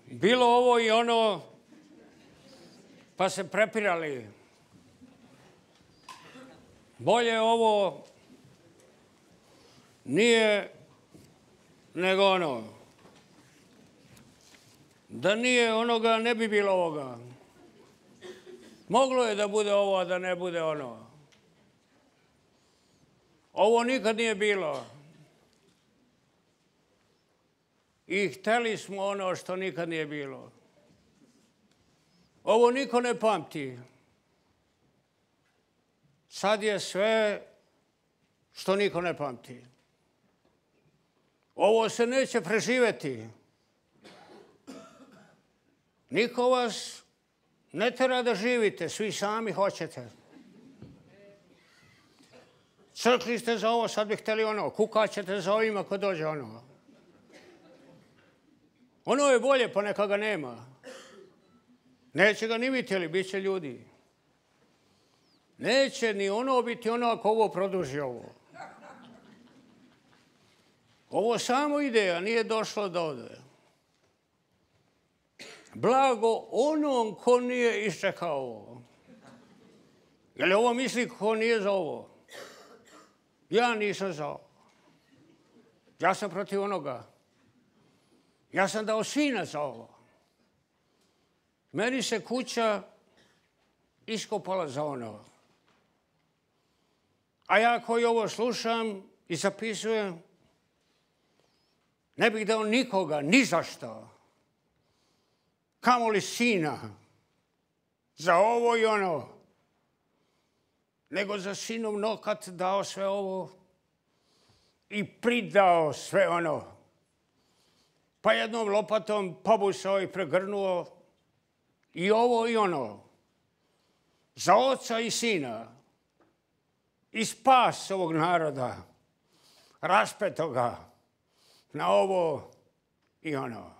bilo ovo i ono, pa se prepirali. Bolje ovo nije nego ono. Da nije onoga, ne bi bilo ovoga. Moglo je da bude ovo, a da ne bude ono. Ovo nikad nije bilo. I hteli smo ono što nikad nije bilo. Ovo niko ne pamti. Sad je sve što niko ne pamti. Ovo se neće preživeti. Niko vas ne tera da živite, svi sami hoćete. Crkli ste za ovo, sad bi hteli ono. Kukaćete za ovima ko dođe ono. Ono je bolje, pa neka ga nema. Neće ga ni vidjeli, bit će ljudi. Neće ni ono biti ono ako ovo produži ovo. Ovo samo ide, a nije došlo do ovdje. Blago onom ko nije iščekao ovo. Je li ovo misli ko nije za ovo? Ja nisam za ovo. Ja sam protiv onoga. Ja sam dao sina za ovo. Meni se kuća iskopala za ono. A ja koji ovo slušam i zapisujem, ne bih dao nikoga, ni za što. Kamoli sina. Za ovo i ono. Nego za sinov nokat dao sve ovo i pridao sve ono. Pa jednom lopatom pobusao i pregrnuo i ovo i ono. Za oca i sina. I spas ovog naroda. Raspetoga na ovo i ono.